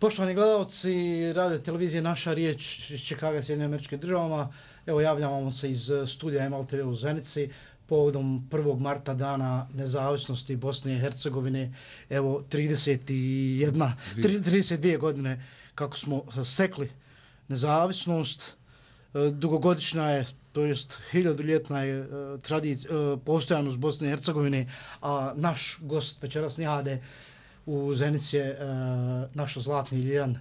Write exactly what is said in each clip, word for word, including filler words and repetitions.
Poštovani gledalci radio televizije Naša riječ iz Čikaga, Sjedinjenim Američkim Državama, evo javljamo se iz studija M L T V u Zenici povodom prvog marta dana nezavisnosti Bosne i Hercegovine, evo trideset jedna, trideset dvije godine kako smo stekli nezavisnost, dugogodišnja je, to jest hiljaduljetna je tradicija, postojanost Bosne i Hercegovine, a naš gost večeras Nihade u Zenici je naš zlatni Ljilan,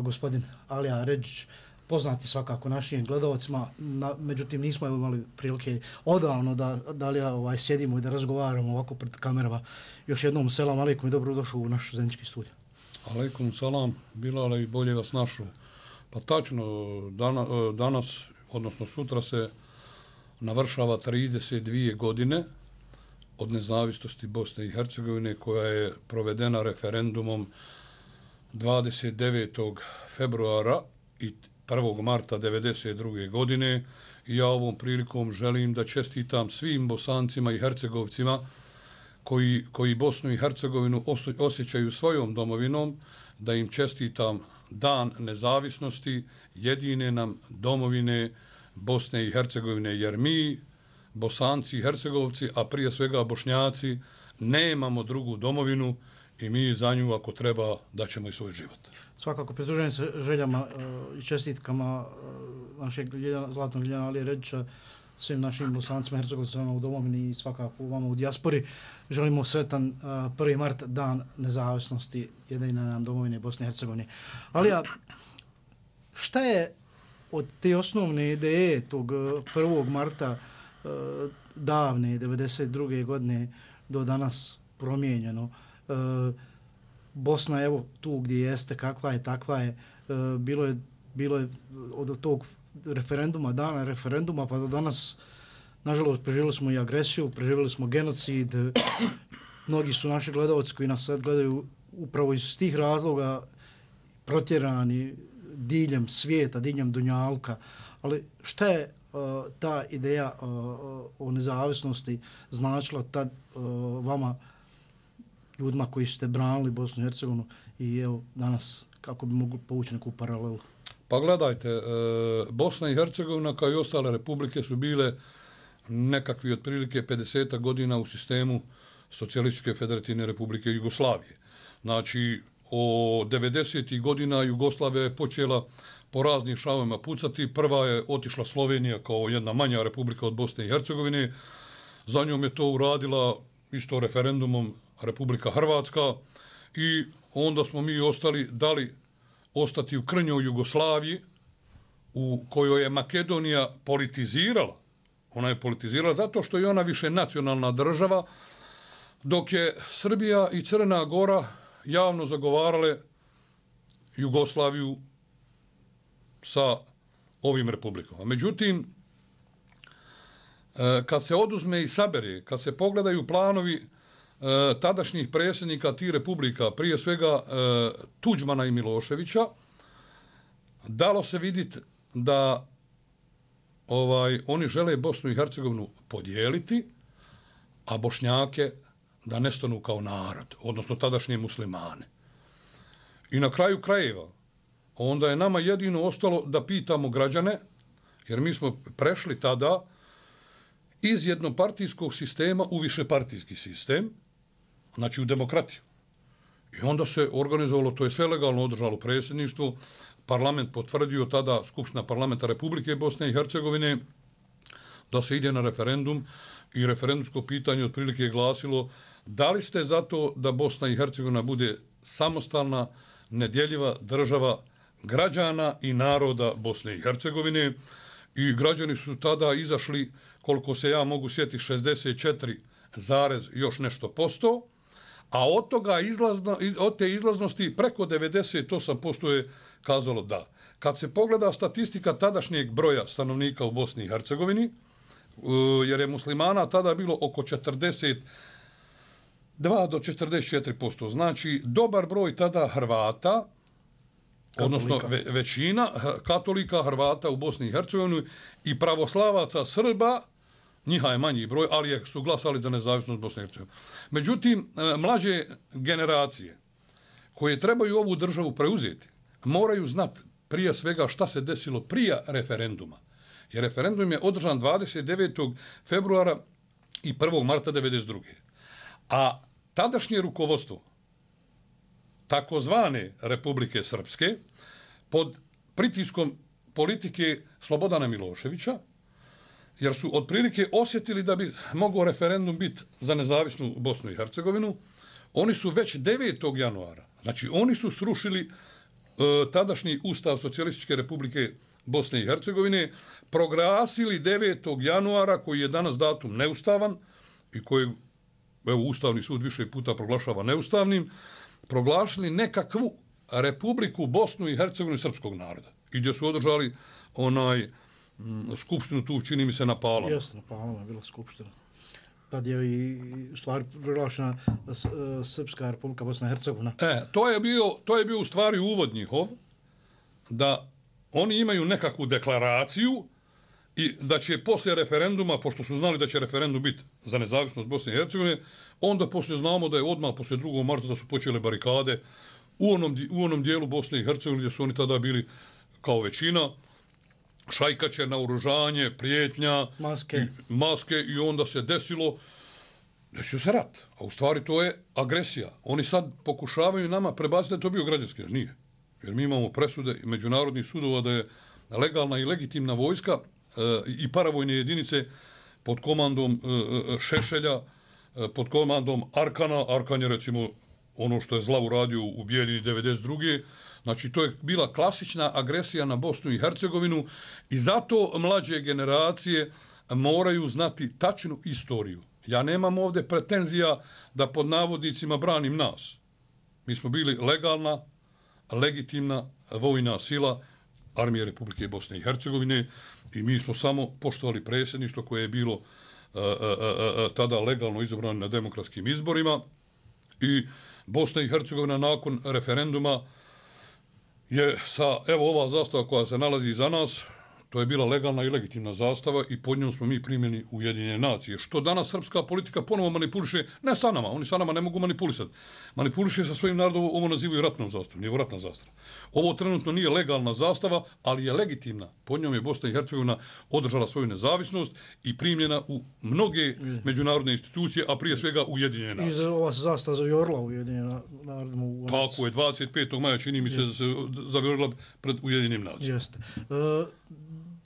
gospodin Alija Redžić, poznati svakako našim gledalcima, na, međutim nismo imali prilike odavno da, da li ovaj, sjedimo i da razgovaramo ovako pred kamerama. Još jednom selam alejkum i dobrodošao u naš zenički studio. Alejkum salam, Bilale, i bolje vas našu. Pa tačno, dana, danas, odnosno sutra se navršava trideset dvije godine od nezavisnosti Bosne i Hercegovine, koja je provedena referendumom dvadeset devetog februara i prvog marta devedeset druge godine. I ja ovom prilikom želim da čestitam svim Bosancima i Hercegovcima koji, koji Bosnu i Hercegovinu osjećaju svojom domovinom, da im čestitam dan nezavisnosti jedine nam domovine Bosne i Hercegovine, jer mi, Bosanci i Hercegovci, a prije svega Bošnjaci, nemamo drugu domovinu i mi za nju, ako treba, daćemo i svoj život. Svakako, pridružujem se željama uh, i čestitkama uh, našeg Ljiljana, zlatnog Ljiljana Alije Redžića, svim našim Bosancima i Hercegovcima u domovini i svakako vama u dijaspori. Želimo sretan uh, prvi mart, dan nezavisnosti jedine nam domovine Bosne i Hercegovine. Alija, šta je od te osnovne ideje tog prvog marta uh, davne devedeset druge godine do danas promijenjeno? Uh, Bosna, evo tu gdje jeste, kakva je, takva je, uh, bilo je, bilo je od tog referenduma, dana referenduma, pa do danas, nažalost, preživjeli smo i agresiju, preživjeli smo genocid, mnogi su naši gledalci koji nas sad gledaju upravo iz tih razloga protjerani diljem svijeta, diljem dunjalka, ali šta je uh, ta ideja uh, o nezavisnosti značila tad uh, vama, ljudima koji ste branili Bosnu i Hercegovinu, i evo danas kako bi mogli povući neku paralelu? Pa gledajte, e, Bosna i Hercegovina kao i ostale republike su bile nekakvi otprilike pedeset godina u sistemu Socijalističke federativne republike Jugoslavije. Znači, o devedesetih godina Jugoslavija je počela po raznim šavima pucati. Prva je otišla Slovenija kao jedna manja republika od Bosne i Hercegovine. Za njom je to uradila isto referendumom Republika Hrvatska i onda smo mi ostali, dali ostati u krnjoj Jugoslaviji, u kojoj je Makedonija politizirala. Ona je politizirala zato što je ona više nacionalna država, dok je Srbija i Crna Gora javno zagovarale Jugoslaviju sa ovim republikama. Međutim, kad se oduzme i sabere, kad se pogledaju planovi E, tadašnjih predsjednika tih republika, prije svega e, Tuđmana i Miloševića, dalo se vidjeti da ovaj oni žele Bosnu i Hercegovinu podijeliti, a Bošnjake da nestanu kao narod, odnosno tadašnje muslimane. I na kraju krajeva, onda je nama jedino ostalo da pitamo građane, jer mi smo prešli tada iz jednopartijskog sistema u višepartijski sistem, znači u demokratiju. I onda se organizovalo, to je sve legalno održalo predsjedništvo, parlament potvrdio tada, Skupština parlamenta Republike Bosne i Hercegovine, da se ide na referendum i referendumsko pitanje otprilike je glasilo da li ste za to da Bosna i Hercegovina bude samostalna, nedjeljiva država građana i naroda Bosne i Hercegovine, i građani su tada izašli, koliko se ja mogu sjetiti, šezdeset četiri zarez još nešto posto, a od toga izlazno, od te izlaznosti preko devedeset osam posto je kazalo da. Kad se pogleda statistika tadašnjeg broja stanovnika u Bosni i Hercegovini, jer je muslimana tada bilo oko četrdeset dva do četrdeset četiri posto, znači dobar broj tada Hrvata, katolika, odnosno ve, većina katolika Hrvata u Bosni i Hercegovini i pravoslavaca Srba, njiha je manji broj, ali su glasali za nezavisnost Bosne i Hercegovine. Međutim, mlađe generacije koje trebaju ovu državu preuzeti, moraju znati prije svega šta se desilo prije referenduma. Jer referendum je održan dvadeset devetog februara i prvog marta devedeset druge. A tadašnje rukovodstvo takozvane Republike Srpske pod pritiskom politike Slobodana Miloševića, jer su otprilike osjetili da bi mogao referendum biti za nezavisnu Bosnu i Hercegovinu, oni su već devetog januara, znači oni su srušili e, tadašnji Ustav Socijalističke Republike Bosne i Hercegovine, proglasili devetog januara, koji je danas datum neustavan i koji evo, Ustavni sud više puta proglašava neustavnim, proglašili nekakvu Republiku Bosnu i Hercegovinu srpskog naroda. I gdje su održali onaj m, skupštinu tu, čini mi se, na Palama. Jeste, na Palama je bila skupština. Tad je i u stvari proglašena Srpska Republika Bosna i Hercegovina. E, to je bio, to je bio u stvari uvod njihov, da oni imaju nekakvu deklaraciju i da će poslije referenduma, pošto su znali da će referendum biti za nezavisnost Bosne i Hercegovine, onda poslije znamo da je odmah poslije drugog marta da su počele barikade u onom, u onom dijelu Bosne i Hercegovine gdje su oni tada bili kao većina, šajkače, naoružanje, prijetnja, maske. I, maske i onda se desilo, desio se rat. A u stvari to je agresija. Oni sad pokušavaju nama prebaciti da je to bio građanski, jer nije. Jer mi imamo presude i međunarodnih sudova da je legalna i legitimna vojska e, i paravojne jedinice pod komandom e, Šešelja, e, pod komandom Arkana. Arkan je recimo ono što je zla uradio u Bijeljini devedeset druge. Znači to je bila klasična agresija na Bosnu i Hercegovinu i zato mlađe generacije moraju znati tačnu istoriju. Ja nemam ovdje pretenzija da pod navodnicima branim nas. Mi smo bili legalna, legitimna vojna sila Armije Republike Bosne i Hercegovine i mi smo samo poštovali predsjedništvo koje je bilo a, a, a, a, tada legalno izabrano na demokratskim izborima i Bosna i Hercegovina nakon referenduma je sa, evo ova zastava koja se nalazi iza nas, to je bila legalna i legitimna zastava i pod njom smo mi primjeni Ujedinjene nacije. Što danas srpska politika ponovo manipuliše, ne sa nama, oni sa nama ne mogu manipulisati. Manipuliše sa svojim narodom, ovo nazivaju ratnom zastavom, nije ratna zastava. Ovo trenutno nije legalna zastava, ali je legitimna. Pod njom je Bosna i Hercegovina održala svoju nezavisnost i primljena u mnoge mm. međunarodne institucije, a prije svega Ujedinjene nacije. I ova se zastava zavjorila Ujedinjena narodima. U Tako je, dvadeset petog maja čini mi se da se zavjorila pred Ujedinjenim nacijama. Jeste. Uh,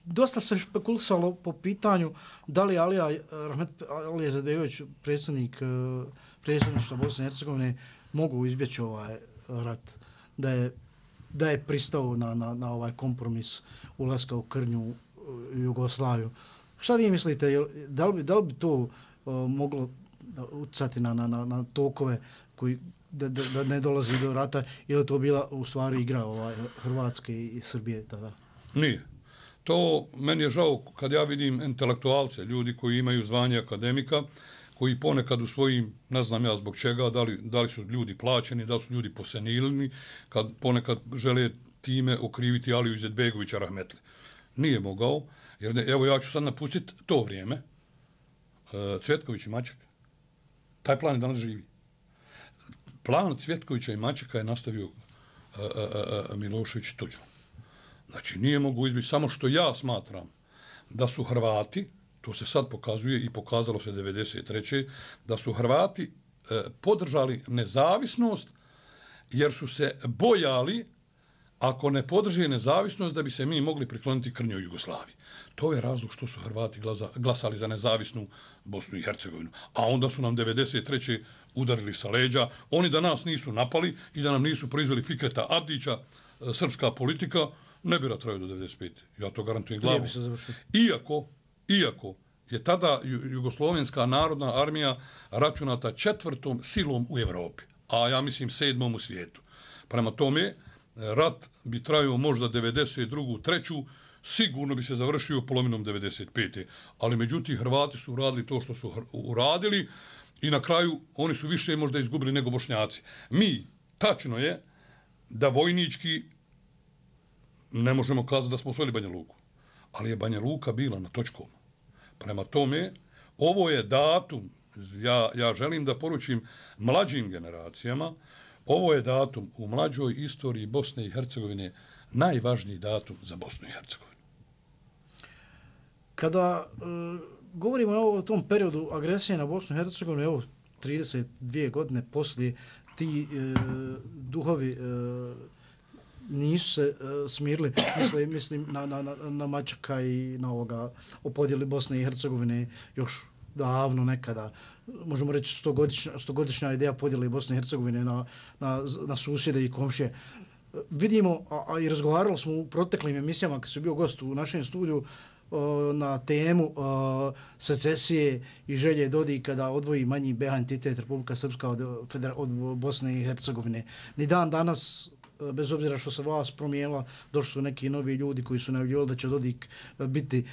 Dosta se špekulisalo po pitanju da li Alija Rahmet Alija Izetbegović, predsjednik predsjedništva Bosne i Hercegovine, mogu izbjeći ovaj rat, da je, da je pristao na, na, na ovaj kompromis ulaska u krnju Jugoslaviju. Šta vi mislite, da li bi, da li bi to uh, moglo utjecati na, na, na, na tokove koji da, da, da ne dolazi do rata, ili to bila u stvari igra ovaj, Hrvatske i Srbije tada? Nije. To meni je žao kad ja vidim intelektualce, ljudi koji imaju zvanje akademika, koji ponekad u svojim, ne znam ja zbog čega, da li, da li su ljudi plaćeni, da li su ljudi posenilni, kad ponekad žele time okriviti Aliju Izetbegovića Rahmetli. Nije mogao, jer ne, evo ja ću sad napustiti to vrijeme. E, Cvjetković i Maček. Taj plan je danas živi. Plan Cvjetkovića i Mačeka je nastavio e, e, e, Milošević Tuđman. Znači, nije mogu izbiti, samo što ja smatram da su Hrvati, to se sad pokazuje i pokazalo se devedeset treće da su Hrvati e, podržali nezavisnost jer su se bojali, ako ne podrže nezavisnost, da bi se mi mogli prikloniti krnjoj Jugoslaviji. To je razlog što su Hrvati glasa, glasali za nezavisnu Bosnu i Hercegovinu. A onda su nam devedeset treće udarili sa leđa. Oni da nas nisu napali i da nam nisu proizveli Fikreta Abdića, e, srpska politika, ne bi trajao do devedeset pete. Ja to garantujem glavom. Iako, iako je tada Jugoslovenska narodna armija računata četvrtom silom u Evropi, a ja mislim sedmom u svijetu. Prema tome, rat bi trajao možda devedeset drugu treću sigurno bi se završio polovinom devedeset pete Ali međutim, Hrvati su uradili to što su uradili i na kraju oni su više možda izgubili nego Bošnjaci. Mi, tačno je, da vojnički ne možemo kazati da smo osvojili Banja Luku, ali je Banja Luka bila na točkom. Prema tome, ovo je datum, ja, ja želim da poručim mlađim generacijama, Ovo je datum u mlađoj istoriji Bosne i Hercegovine najvažniji datum za Bosnu i Hercegovinu. Kada e, govorimo o tom periodu agresije na Bosnu i Hercegovinu, evo trideset dvije godine poslije, ti e, duhovi e, nisu se e, smirili, mislim, mislim na, na, na, na Mačaka i na ovoga o podjeli Bosne i Hercegovine još davno nekada, možemo reći stogodišnja, stogodišnja ideja podjele Bosne i Hercegovine na, na, na susjede i komšije. Vidimo, a, a i razgovarali smo u proteklim emisijama kad su bio gost u našem studiju na temu secesije i želje Dodika da odvoji manji B H entitet Republika Srpska od, od Bosne i Hercegovine. Ni dan danas, bez obzira što se vlast promijenila, došli su neki novi ljudi koji su najavljivali da će Dodik biti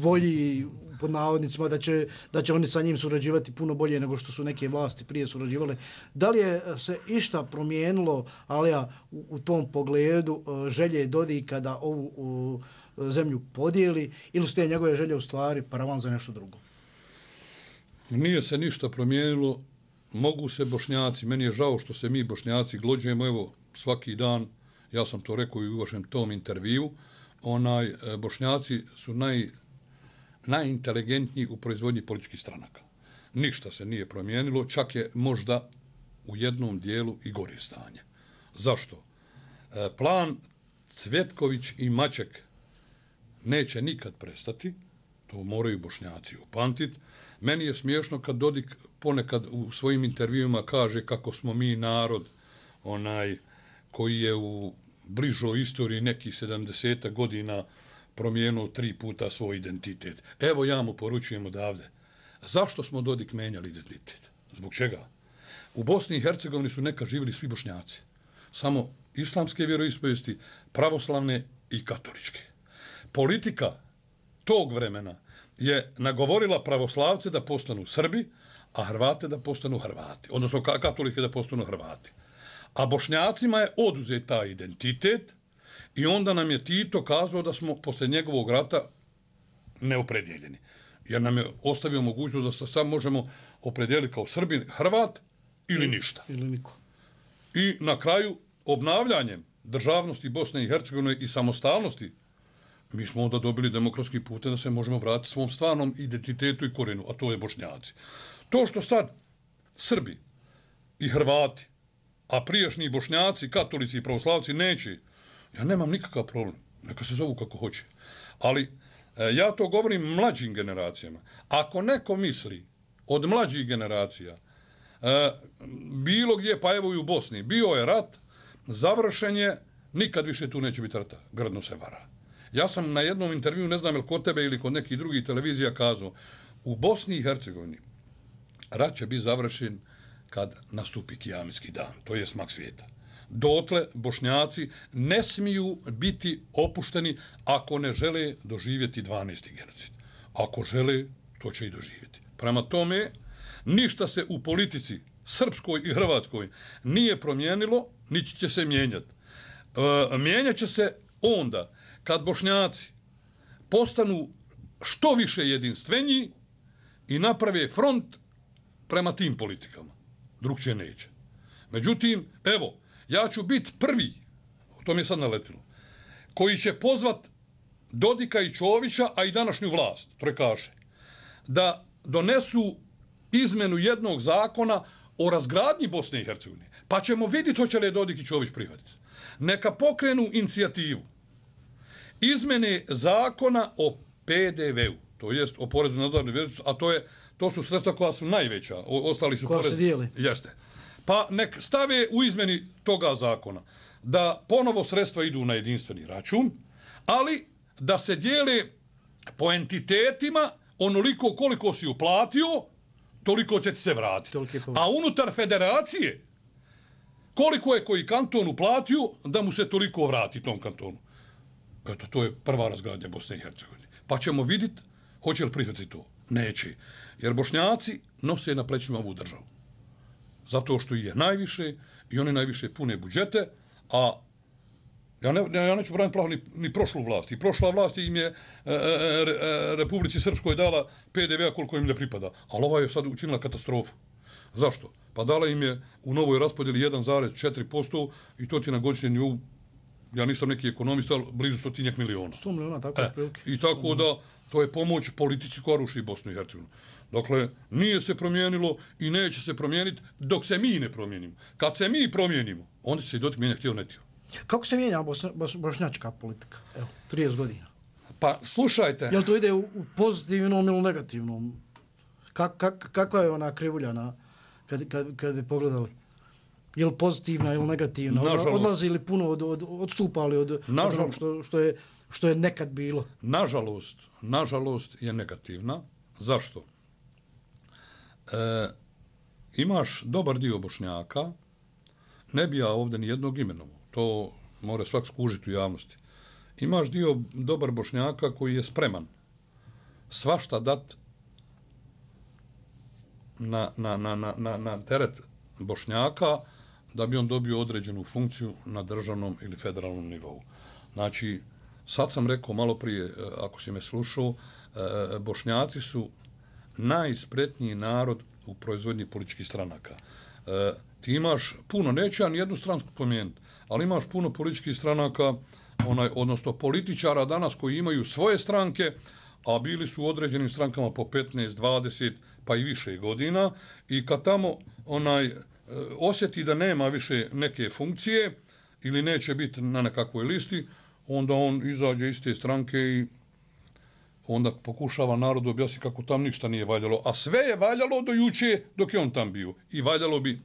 bolji, pod navodnicima, da će, da će oni sa njim surađivati puno bolje nego što su neke vlasti prije surađivale. Da li je se išta promijenilo, Alija, u, u tom pogledu želje Dodika da ovu u, zemlju podijeli, ili su te njegove želje u stvari paravan za nešto drugo? Nije se ništa promijenilo. Mogu se Bošnjaci, meni je žao što se mi Bošnjaci glođujemo, evo svaki dan, ja sam to rekao i u vašem tom intervju, onaj, Bošnjaci su naj, najinteligentniji u proizvodnji političkih stranaka. Ništa se nije promijenilo, čak je možda u jednom dijelu i gore stanje. Zašto? Plan Cvetković i Maček neće nikad prestati, to moraju Bošnjaci upamtiti. Meni je smiješno kad Dodik ponekad u svojim intervjuima kaže kako smo mi narod onaj koji je u bližoj istoriji nekih sedamdeset godina promijenuo tri puta svoj identitet. Evo ja mu poručujem odavde. Zašto smo Dodik menjali identitet? Zbog čega? U Bosni i Hercegovini su nekad živjeli svi Bošnjaci. Samo islamske vjeroispovesti, pravoslavne i katoličke. Politika tog vremena je nagovorila pravoslavce da postanu Srbi, a Hrvate da postanu Hrvati. Odnosno katolike da postanu Hrvati. A Bošnjacima je oduzet taj identitet i onda nam je Tito kazao da smo posle njegovog rata neopredjeljeni. Jer nam je ostavio mogućnost da se sad možemo opredijeliti kao Srbin, Hrvat ili ništa. Ili niko. I na kraju obnavljanjem državnosti Bosne i Hercegovine i samostalnosti mi smo onda dobili demokratski put da se možemo vratiti svom stvarnom identitetu i korenu, a to je Bošnjaci. To što sad Srbi i Hrvati, a prijašnji Bošnjaci, katolici i pravoslavci neće, ja nemam nikakav problem. Neka se zovu kako hoće. Ali e, ja to govorim mlađim generacijama. Ako neko misli od mlađih generacija, e, bilo gdje, pa evo i u Bosni, bio je rat, završen je, nikad više tu neće biti rata. Grdno se vara. Ja sam na jednom intervju, ne znam je li kod tebe ili kod nekih drugih televizija kazao, u Bosni i Hercegovini rat će biti završen kad nastupi kijametski dan, to je smak svijeta. Dotle Bošnjaci ne smiju biti opušteni ako ne žele doživjeti dvanaesti genocid. Ako žele, to će i doživjeti. Prema tome, ništa se u politici srpskoj i hrvatskoj nije promijenilo, niti će se mijenjati. E, mijenjat će se onda kad Bošnjaci postanu što više jedinstveniji i naprave front prema tim politikama. Drugčije neće. Međutim, evo, ja ću biti prvi, to mi je sad naletilo, koji će pozvat Dodika i Čovića, a i današnju vlast, trojkaše, da donesu izmenu jednog zakona o razgradnji Bosne i Hercegovine. Pa ćemo vidjeti hoće li Dodik i Čović prihvatiti. Neka pokrenu inicijativu izmene zakona o P D V-u, to jest o porezu na dodanu vrijednost, a to je to su sredstva koja su najveća, o, ostali su koja porez. se dijeli. Jeste. Pa nek stave u izmeni toga zakona da ponovo sredstva idu na jedinstveni račun, ali da se dijele po entitetima onoliko koliko si uplatio, toliko će ti se vratiti. A unutar federacije koliko je koji kanton uplatio da mu se toliko vrati tom kantonu. Eto, to je prva razgradnja Bosne i Hercegovine. Pa ćemo vidjeti hoće li prihvatiti to. Neće. Jer Bošnjaci nose na plećima ovu državu. Zato što je najviše i oni najviše pune budžete, a ja, ne, ja neću braniti pravo ni, ni prošlu vlast. I prošla vlast im je e, e, Republici Srpskoj dala P D V-a koliko im ne pripada. Ali ova je sad učinila katastrofu. Zašto? pa dala im je u novoj raspodjeli jedan zarez četiri posto i to ti na godišnjem nivou, ja nisam neki ekonomista, ali blizu stotinjak miliona. sto miliona, tako je prilike. I tako da, to je pomoć politici koja ruši Bosnu i Hercegovinu. Dakle, nije se promijenilo i neće se promijeniti dok se mi ne promijenimo. Kad se mi promijenimo, onda će se i dotik mijenja htio netio. Kako se mijenja bos, bos, bošnjačka politika? Evo, trideset godina. Pa, slušajte. Jel to ide u, u pozitivnom ili negativnom? Kak, kak, kakva je ona krivulja na, kad, kad, kad bi pogledali? Je li pozitivna ili negativna? Nažalost. Odlazi li puno, od, od, odstupali od, od onog što, što, je, što je nekad bilo? Nažalost, nažalost je negativna. Zašto? E, imaš dobar dio Bošnjaka, ne bi ja ovdje ni jednog imenom, to mora svak skužiti u javnosti. Imaš dio dobar Bošnjaka koji je spreman svašta dat na, na, na, na, na, na teret Bošnjaka da bi on dobio određenu funkciju na državnom ili federalnom nivou. Znači, sad sam rekao malo prije, ako si me slušao, Bošnjaci su najspretniji narod u proizvodnji političkih stranaka. E, ti imaš puno, neće ja nijednu stransku pomijeniti, ali imaš puno političkih stranaka, onaj, odnosno političara danas koji imaju svoje stranke, a bili su u određenim strankama po petnaest, dvadeset, pa i više godina, i kad tamo onaj osjeti da nema više neke funkcije ili neće biti na nekakvoj listi, onda on izađe iz te stranke i onda pokušava narodu objasniti kako tam ništa nije valjalo. A sve je valjalo do juče dok je on tam bio. I valjalo bi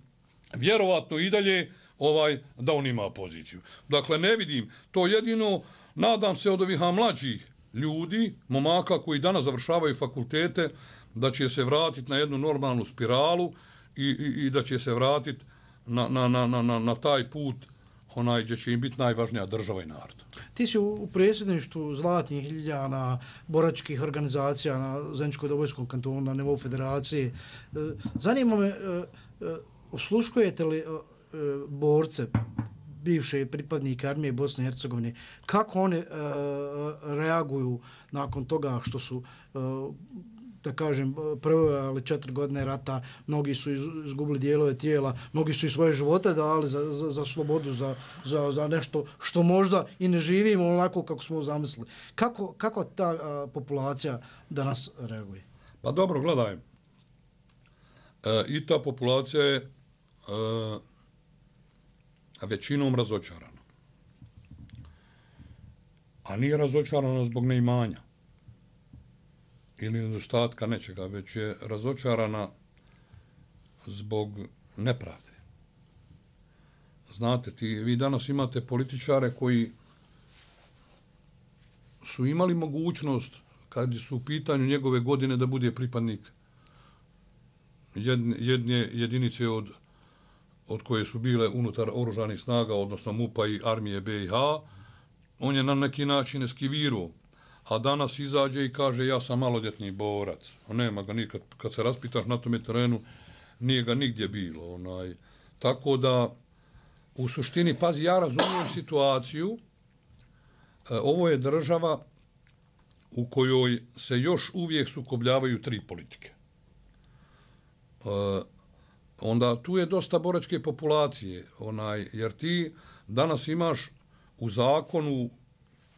vjerovatno i dalje ovaj, da on ima poziciju. Dakle, ne vidim. To jedino, nadam se od ovih mlađih ljudi, momaka koji danas završavaju fakultete, da će se vratiti na jednu normalnu spiralu i, i, i da će se vratiti na, na, na, na, na taj put onaj gdje će im biti najvažnija država i narod. Ti si u predsjedništvu Zlatnih Ljiljana, boračkih organizacija na Zeničko-Dobojskom kantonu, na nivou federacije. Zanima me, osluškujete li borce, bivše pripadnike armije Bosne i Hercegovine, kako oni reaguju nakon toga što su, da kažem, proveli četiri godine rata, mnogi su izgubili dijelove tijela, mnogi su i svoje živote dali za, za, za slobodu, za, za, za nešto što možda i ne živimo onako kako smo zamislili. Kako, kako ta a, populacija danas reaguje? Pa dobro, gledaj. E, I ta populacija je e, većinom razočarana. A nije razočarana zbog neimanja ili nedostatka nečega, već je razočarana zbog nepravde. Znate, ti, vi danas imate političare koji su imali mogućnost, kad su u pitanju njegove godine, da bude pripadnik jedne, jedne jedinice od, od koje su bile unutar oružanih snaga, odnosno MUP-a i armije B i H, on je na neki način eskivirao. A danas izađe i kaže ja sam maloljetni borac. Nema ga nikad, kad se raspitaš na tome terenu, nije ga nigdje bilo. Onaj. Tako da, u suštini, pazi, ja razumijem situaciju. E, ovo je država u kojoj se još uvijek sukobljavaju tri politike. E, onda tu je dosta boračke populacije, onaj, jer ti danas imaš u zakonu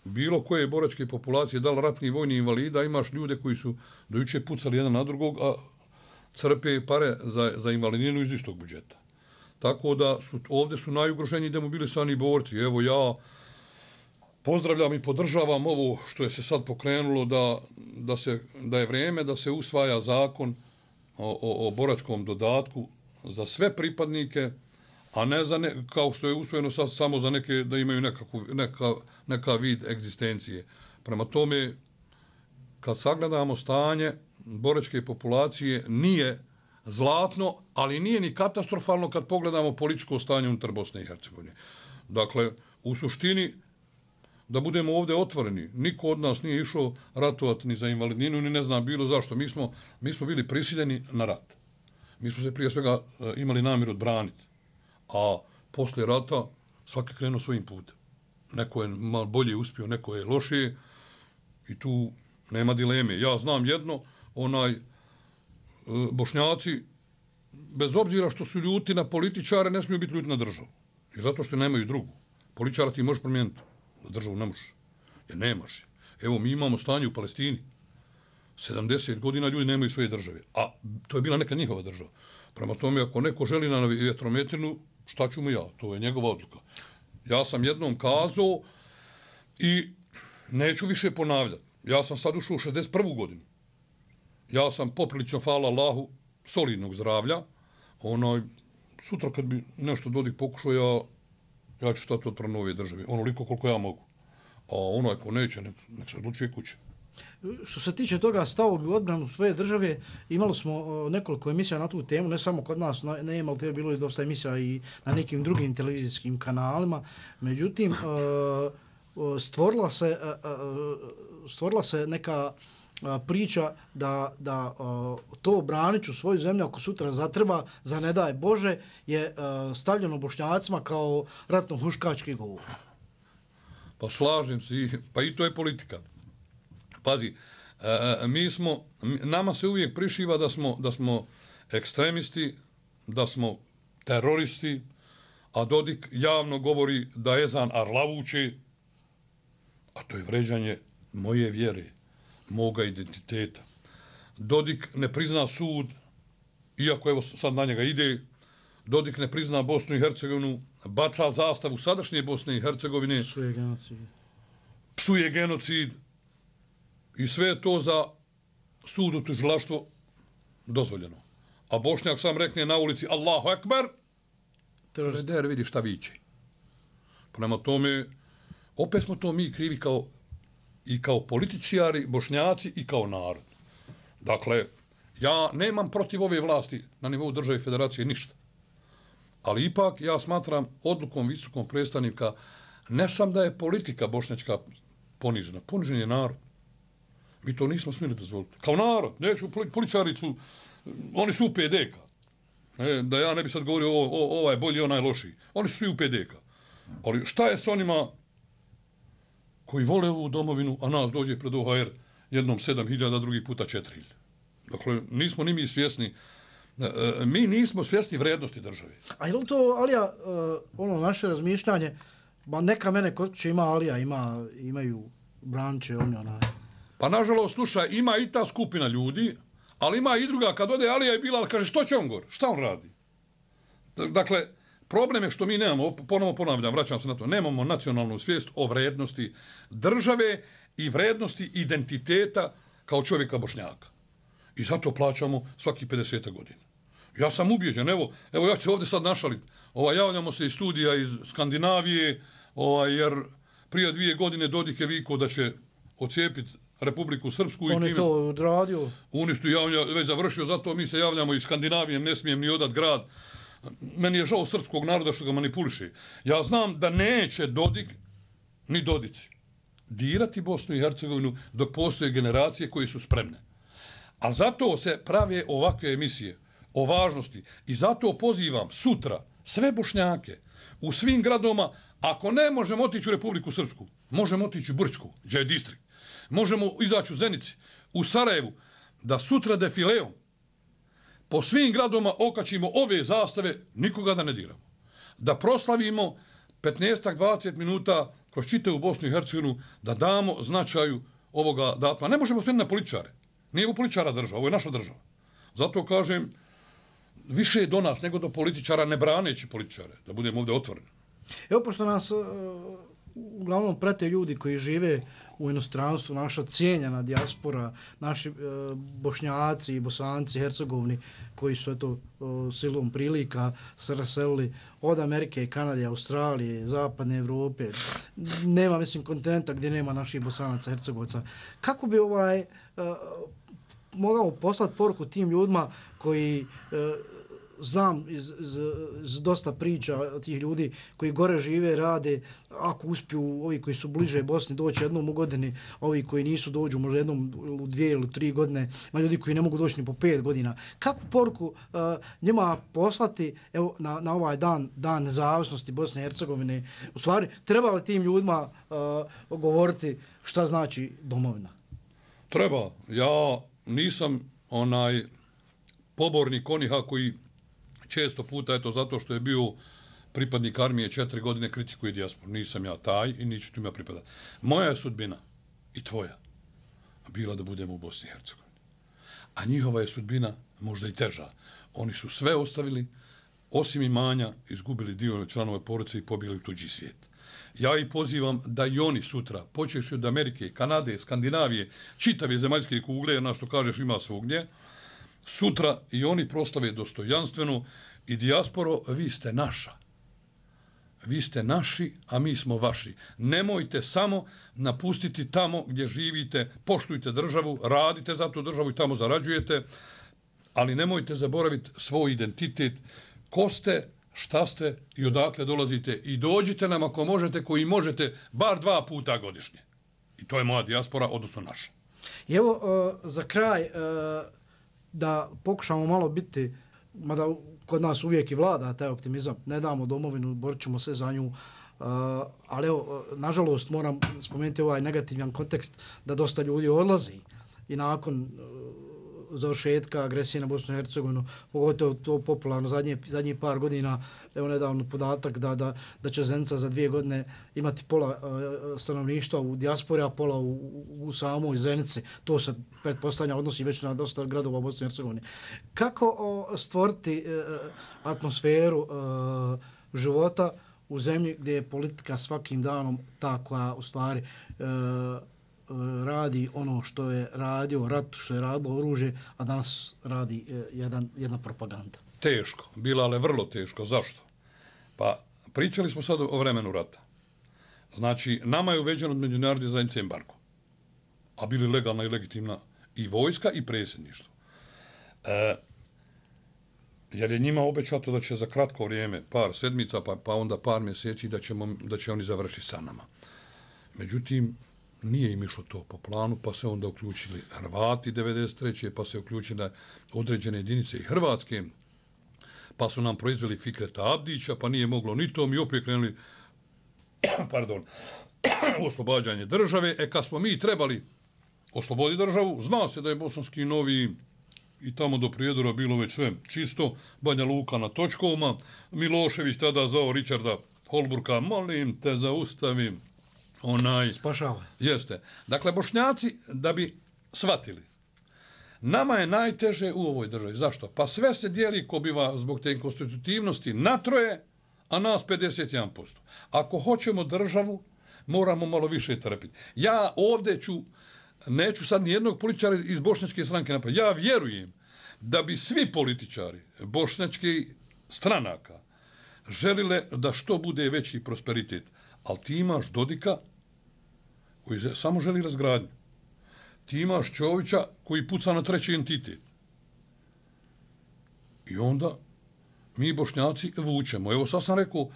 bilo koje boračke populacije, da li ratni vojni invalida, imaš ljude koji su dojuče pucali jedan na drugog, a crpe pare za, za invalidninu iz istog budžeta. Tako da su, ovdje su najugroženiji demobilisani borci. Evo ja pozdravljam i podržavam ovo što je se sad pokrenulo da, da, se, da je vrijeme da se usvaja zakon o, o, o boračkom dodatku za sve pripadnike, a ne za ne, kao što je usvojeno sad samo za neke da imaju nekakvu, neka, neka vid egzistencije. Prema tome, kad sagledamo stanje boračke populacije, nije zlatno, ali nije ni katastrofalno kad pogledamo političko stanje unutar Bosne i Hercegovine. Dakle, u suštini, da budemo ovdje otvoreni, niko od nas nije išao ratovati ni za invalidninu, ni ne znam bilo zašto. Mi smo, mi smo bili prisiljeni na rat. Mi smo se prije svega imali namjer odbraniti. A poslije rata svaki krenuo svojim putem. Neko je malo bolje uspio, neko je lošije i tu nema dileme. Ja znam jedno, onaj, Bošnjaci bez obzira što su ljuti na političare, ne smiju biti ljuti na državu. I zato što nemaju drugu. Političara ti možeš promijeniti, na državu ne možeš. Jer nemaš je. Evo, mi imamo stanje u Palestini. sedamdeset godina ljudi nemaju svoje države. A to je bila neka njihova država. Prema tome, ako neko želi na vjetrometinu, šta ću mu ja? To je njegova odluka. Ja sam jednom kazao i neću više ponavljati. Ja sam sad ušao u šezdeset prvu godinu. Ja sam poprilično, hvala Allahu, solidnog zdravlja. Onaj, sutra kad bi nešto Dodik pokušao, ja, ja ću stati od nove države. Onoliko koliko ja mogu. A onaj ko neće, nek, nek se odlučuje kuće. Što se tiče toga stavovi u odbranu svoje države, imali smo uh, nekoliko emisija na tu temu, ne samo kod nas, na, ne imali te, bilo je dosta emisija i na nekim drugim televizijskim kanalima. Međutim, uh, stvorila se, uh, stvorila se neka uh, priča da, da uh, to braniću svoju zemlju ako sutra zatreba, za ne daj Bože, je uh, stavljeno Bošnjacima kao ratno-huškački govor. Pa slažem se, pa i to je politika. Pazi, e, mi smo, nama se uvijek prišiva da smo, da smo ekstremisti, da smo teroristi, a Dodik javno govori da je ezan arlavući, a to je vređanje moje vjere, moga identiteta. Dodik ne prizna sud, iako evo sad na njega ide, Dodik ne prizna Bosnu i Hercegovinu, baca zastavu sadašnje Bosne i Hercegovine, psuje genocid. Psuje genocid i sve je to za sud u tužilaštvo dozvoljeno. A Bošnjak sam rekne na ulici Allahu Ekber, der vidi šta viće. Prema tome, opet smo to mi krivi kao, i kao političari, Bošnjaci i kao narod. Dakle, ja nemam protiv ove vlasti na nivou države i federacije ništa. Ali ipak ja smatram odlukom visokog predstavnika ne sam da je politika bošnjačka ponižena, ponižen je narod. Mi to nismo smjeli dozvoliti. Kao narod, neću, političari su, oni su u P D K. E, da ja ne bi sad govorio o, o, ovaj bolji, onaj lošiji. Oni su svi u P D K. Ali šta je s onima koji vole ovu domovinu, a nas dođe pred O H R jednom sedam hiljada, drugi puta četiri hiljade. Dakle, nismo ni mi svjesni, e, mi nismo svjesni vrednosti države. A je li to, Alija, uh, ono naše razmišljanje, ba neka mene kod će ima Alija, ima, imaju branče, oni onaj. Pa nažalost, slušaj, ima i ta skupina ljudi, ali ima i druga, kad ode Alija i Bilal, kaže, što će on gore? Šta on radi? Dakle, problem je što mi nemamo, ponovo ponavljam, vraćam se na to, nemamo nacionalnu svijest o vrednosti države i vrednosti identiteta kao čovjeka Bošnjaka. I zato plaćamo svaki pedeset godina. Ja sam ubijeđen, evo, evo ja ću ovdje sad našaliti. Ovaj, javljamo se iz studija iz Skandinavije, ovaj, jer prije dvije godine Dodik je vikao da će ocijepiti Republiku Srpsku. On je to odradio. Uništu javlja, već završio, zato mi se javljamo iz Skandinavije, ne smijem ni odat grad. Meni je žao srpskog naroda što ga manipuliše. Ja znam da neće Dodik, ni Dodici, dirati Bosnu i Hercegovinu dok postoje generacije koje su spremne. Ali zato se prave ovakve emisije o važnosti i zato pozivam sutra sve Bošnjake u svim gradoma, ako ne možemo otići u Republiku Srpsku, možemo otići u Brčku, gdje je distrikt, možemo izaći u Zenici, u Sarajevu, da sutra defileom po svim gradoma okačimo ove zastave, nikoga da ne diramo. Da proslavimo petnaest do dvadeset minuta kroz čitavu Bosnu i Hercegovinu, da damo značaju ovoga datuma. Ne možemo sve na političare. Nije u političara država, ovo je naša država. Zato kažem, više je do nas nego do političara, ne braneći političare, da budemo ovdje otvoreni. Evo, pošto nas uh, uglavnom prate ljudi koji žive u inostranstvu, naša cijenjena dijaspora, naši uh, Bošnjaci, Bosanci, Hercegovni, koji su eto uh, silom prilika se raselili od Amerike, Kanade, Australije, Zapadne Evrope. Nema, mislim, kontinenta gdje nema naših Bosanaca, Hercegovaca. Kako bi ovaj uh, mogao poslati poruku tim ljudima koji uh, znam iz, iz, iz dosta priča tih ljudi koji gore žive, rade, ako uspiju ovi koji su bliže Bosni doći jednom u godini, ovi koji nisu dođu možda jednom u dvije ili tri godine, ima ljudi koji ne mogu doći ni po pet godina. Kakvu poruku uh, njima poslati evo, na, na ovaj dan, dan nezavisnosti Bosne i Hercegovine? U stvari, treba li tim ljudima uh, govoriti šta znači domovina? Treba. Ja nisam onaj pobornik oniha koji često puta, eto, zato što je bio pripadnik armije četiri godine, kritikuje dijasporu. Nisam ja taj i niću tu ima pripadati. Moja je sudbina i tvoja bila da budemo u Bosni i Hercegovini. A njihova je sudbina možda i teža. Oni su sve ostavili, osim imanja, izgubili dio članove porodice i pobjegli u tuđi svijet. Ja ih pozivam da i oni sutra, počeši od Amerike, Kanade, Skandinavije, čitave zemaljske kugle, na što kažeš ima svugdje, sutra i oni prostave dostojanstveno i dijasporo, vi ste naša. Vi ste naši, a mi smo vaši. Nemojte samo napustiti tamo gdje živite, poštujte državu, radite za tu državu i tamo zarađujete, ali nemojte zaboraviti svoj identitet, ko ste, šta ste i odakle dolazite i dođite nam ako možete, koji možete, bar dva puta godišnje. I to je moja dijaspora, odnosno naša. I evo, uh, za kraj, uh, da pokušamo malo biti, mada kod nas uvijek i vlada taj optimizam, ne damo domovinu, borit ćemo se za nju, uh, ali evo, nažalost moram spomenuti ovaj negativan kontekst da dosta ljudi odlazi i nakon uh, završetka agresije na Bosnu i Hercegovinu, pogotovo to popularno zadnje, zadnjih par godina, evo nedavno podatak da, da, da će Zenica za dvije godine imati pola uh, stanovništva u dijaspori, a pola u, u, u samoj Zenici. To se pretpostavlja odnosi već na dosta gradova u Bosni i Hercegovini. Kako o, stvoriti uh, atmosferu uh, života u zemlji gdje je politika svakim danom ta koja u stvari uh, radi ono što je radio rat, što je radilo oružje, a danas radi eh, jedan, jedna propaganda. Teško, bila ali vrlo teško. Zašto? Pa pričali smo sad o vremenu rata. Znači, nama je uveđeno od međunarodne zajednice embargo, a bili legalna i legitimna i vojska i predsjedništvo. E, jer je njima obećato da će za kratko vrijeme, par sedmica, pa, pa onda par mjeseci, da, ćemo, da će oni završiti sa nama. Međutim, nije im išlo to po planu, pa se onda uključili Hrvati devedeset treće pa se uključile određene jedinice i Hrvatske, pa su nam proizveli Fikreta Abdića, pa nije moglo ni to, mi opet krenuli pardon, oslobađanje države. E, kad smo mi trebali osloboditi državu, zna se da je Bosanski Novi i tamo do Prijedora bilo već sve čisto, Banja Luka na točkovima, Milošević tada zvao Richarda Holbrooka, molim te zaustavim, onaj... Spašava. Jeste. Dakle, Bošnjaci, da bi shvatili, nama je najteže u ovoj državi. Zašto? Pa sve se dijeli ko biva zbog te konstitutivnosti na troje, a nas pedeset jedan posto. Ako hoćemo državu, moramo malo više trpiti. Ja ovdje ću, neću sad nijednog političara iz bošnjačke stranke napraviti. Ja vjerujem da bi svi političari bošnjačke stranaka želile da što bude veći prosperitet. Ali ti imaš Dodika koji samo želi razgradnju. Ti imaš Čovića koji puca na treći entitet. I onda mi Bošnjaci vučemo. Evo sad sam rekao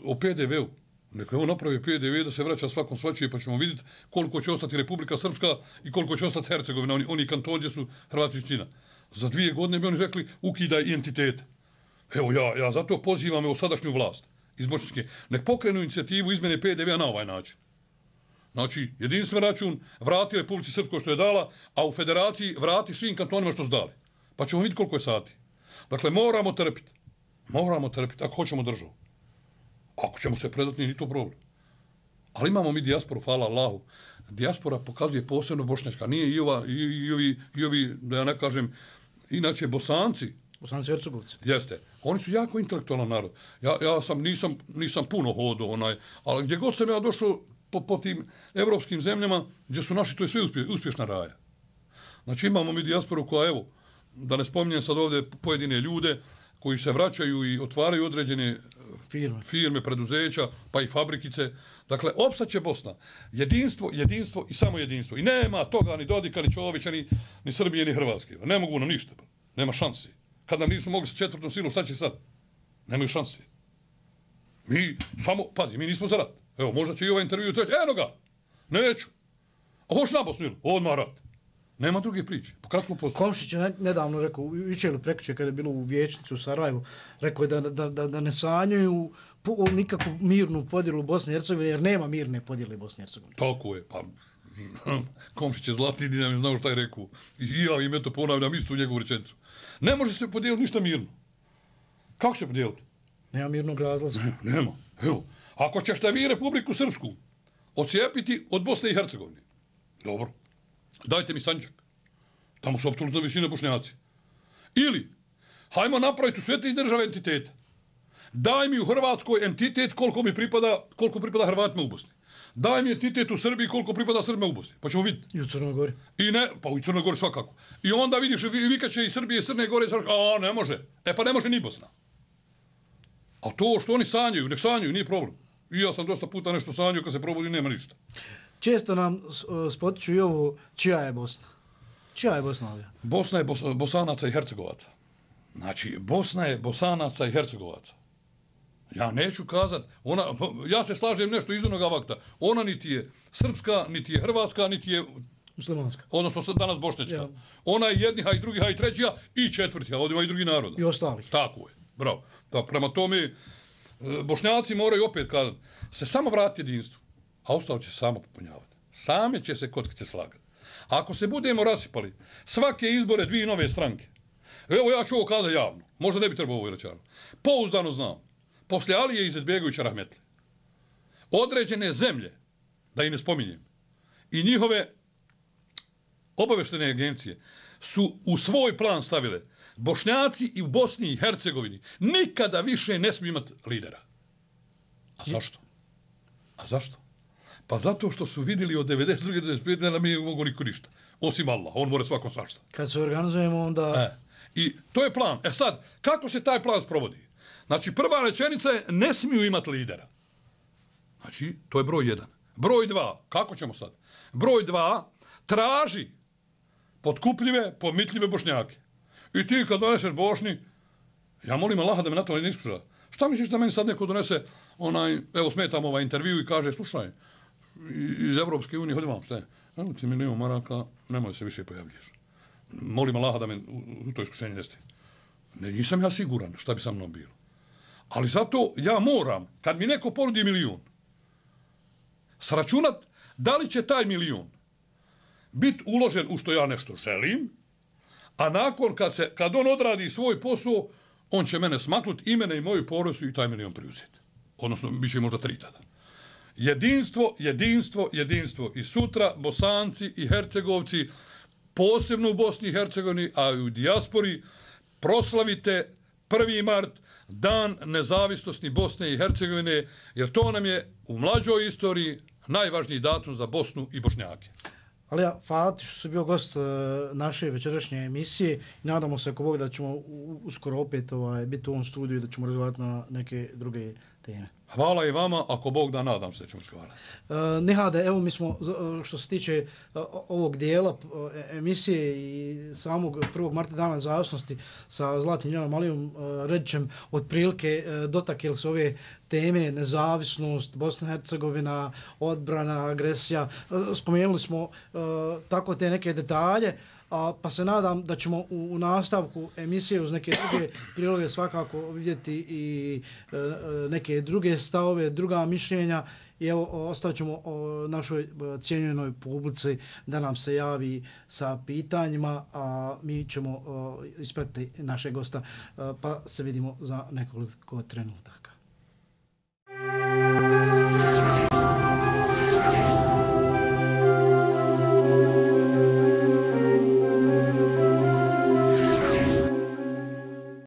o P D V-u. Neka evo napravi P D V da se vraća svakom svačije, pa ćemo vidjeti koliko će ostati Republika Srpska i koliko će ostati Hercegovina. Oni, oni kantoni gdje su Hrvati čina. Za dvije godine bi oni rekli ukidaj entitete. Evo ja, ja zato pozivam evo sadašnju vlast iz Bošnjačke. Nek pokrenu inicijativu izmene P D V-a na ovaj način. Znači, jedinstven račun vrati Republici Srpskoj što je dala, a u federaciji vrati svim kantonima što su dali. Pa ćemo vidjeti koliko je sati. Dakle, moramo trpiti. Moramo trpiti ako hoćemo državu. Ako ćemo se predati, nije ni to problem. Ali imamo mi dijasporu, hvala Allahu. Dijaspora pokazuje posebno bošnjačka. Nije i, ova, i, i, ovi, i ovi, da ja ne kažem, inače Bosanci. Bosanci Hercegovci. Jeste. Oni su jako intelektualan narod. Ja, ja sam, nisam, nisam puno hodao, onaj, ali gdje god sam ja došao po, po tim evropskim zemljama, gdje su naši, to je sve uspje, uspješna raja. Znači imamo mi dijasporu koja, evo, da ne spominjem sad ovdje pojedine ljude koji se vraćaju i otvaraju određene firme, firme preduzeća, pa i fabrikice. Dakle, opstaće Bosna. Jedinstvo, jedinstvo i samo jedinstvo. I nema toga ni Dodika, ni Čovića, ni, ni Srbije, ni Hrvatske. Ne mogu nam ništa. Nema šanse. Kad nam nisu mogli sa četvrtom silom, šta će sad? Nemaju šanse. Mi samo, pazi, mi nismo za rat. Evo, možda će i ovaj intervju treći. Eno ga! Neću. A hoš na Bosnu ili? Odmah rat. Nema druge priče. Po kratkom postoju. Komšić je nedavno rekao, juče ili prekriče kada je bilo u Vijećnici u Sarajevu, rekao je da, da, da, da ne sanjaju nikakvu mirnu podjelu Bosne i Hercegovine, jer nema mirne podjele Bosne i Hercegovine. Tako je. Pa, Komšić je zlatni dinam, znao šta je rekao. I ja im eto ponavljam istu njegovu rečenicu. Ne može se podijeliti ništa mirno. Kako će podijeliti? Nema mirnog razlaza. Ne, nema. Evo, ako ćete vi Republiku Srpsku ocijepiti od Bosne i Hercegovine, dobro, dajte mi Sandžak. Tamo su apsolutno većina Bošnjaci. Ili, hajmo napraviti u sve te države entitete. Daj mi u Hrvatskoj entitet koliko mi pripada, koliko pripada Hrvatima u Bosni. Daj mi entitet u Srbiji koliko pripada Srbima u Bosni. Pa ćemo vidjeti. I u Crnoj Gori. I ne, pa u Crnoj Gori svakako. I onda vidiš, vikaće i Srbije i Crne Gore, a ne može. E pa ne može ni Bosna. A to što oni sanjaju, nek sanjaju, nije problem. I ja sam dosta puta nešto sanjao, kad se probudi nema ništa. Često nam spotiču i ovo, čija je Bosna? Čija je Bosna ovdje? Bosna je Bos Bosanaca i Hercegovaca. Znači, Bosna je Bosanaca i Hercegovaca. Ja neću kazat, ona, ja se slažem nešto iz onoga vakta. Ona niti je srpska, niti je hrvatska, niti je muslimanska. Odnosno danas bošnjačka. Ja. Ona je jedniha i drugiha i trećiha i četvrtiha, ovdje ima i drugi naroda. I ostalih. Tako je, bravo. Da, prema tome, Bošnjaci moraju opet kazati, se samo vratiti jedinstvu, a ostalo će se samo popunjavati. Same će se kockice slagati. Ako se budemo rasipali svake izbore dvije nove stranke, evo ja ću ovo kazati javno, možda ne bi trebao ovo reći, pouzdano znam, poslije Alije Izetbegovića rahmetli, određene zemlje, da i ne spominjem, i njihove obaveštene agencije su u svoj plan stavile Bošnjaci i u Bosni i Hercegovini nikada više ne smiju imati lidera. A zašto? A zašto? Pa zato što su vidjeli od devedeset druge do devedeset pete da mi ne mogu niko ništa. Osim Allah, on more svakom svašta. Kad se organizujemo onda... E, I to je plan. E sad, kako se taj plan sprovodi? Znači, prva rečenica je ne smiju imati lidera. Znači, to je broj jedan. Broj dva, kako ćemo sad? Broj dva, traži potkupljive, pomitljive Bošnjake. I ti kad doneseš Bošnji, ja molim Allaha da me na to ne iskuša. Šta misliš da meni sad neko donese, onaj, evo smetam ovaj intervju i kaže, slušaj, iz Evropske unije, hodi vam, šta je? Evo ti milijon maraka, nemoj se više pojavljuješ. Molim Allaha da me u to iskušenje nesti. Ne, nisam ja siguran šta bi sa mnom bilo. Ali zato ja moram, kad mi neko ponudi milijon, sračunat da li će taj milijon biti uložen u što ja nešto želim, a nakon kad, se, kad on odradi svoj posao, on će mene smaknut i mene i moju porodicu i taj milijon preuzeti. Odnosno, bit će možda tri tada. Jedinstvo, jedinstvo, jedinstvo. I sutra Bosanci i Hercegovci, posebno u Bosni i Hercegovini, a i u dijaspori, proslavite prvi mart, dan nezavisnosti Bosne i Hercegovine, jer to nam je u mlađoj istoriji najvažniji datum za Bosnu i Bošnjake. Ali ja, hvala ti što si bio gost uh, naše večerašnje emisije i nadamo se ako Bog da ćemo uskoro opet ovaj, biti u ovom studiju i da ćemo razgovarati na neke druge teme. Hvala i vama, ako Bog da, nadam se da ćemo razgovarati. Uh, Nehade, evo mi smo, što se tiče uh, ovog dijela uh, emisije i samog prvog marta dana nezavisnosti sa Zlatnim Ljiljana Alijom uh, Redićem, otprilike uh, dotakli se ove teme, nezavisnost, Bosna i Hercegovina, odbrana, agresija. Uh, spomenuli smo uh, tako te neke detalje, a, pa se nadam da ćemo u, u nastavku emisije uz neke druge priloge svakako vidjeti i e, neke druge stavove, druga mišljenja i evo ostavit ćemo o, našoj cijenjenoj publici da nam se javi sa pitanjima, a mi ćemo o, ispratiti naše gosta, a, pa se vidimo za nekoliko trenutaka.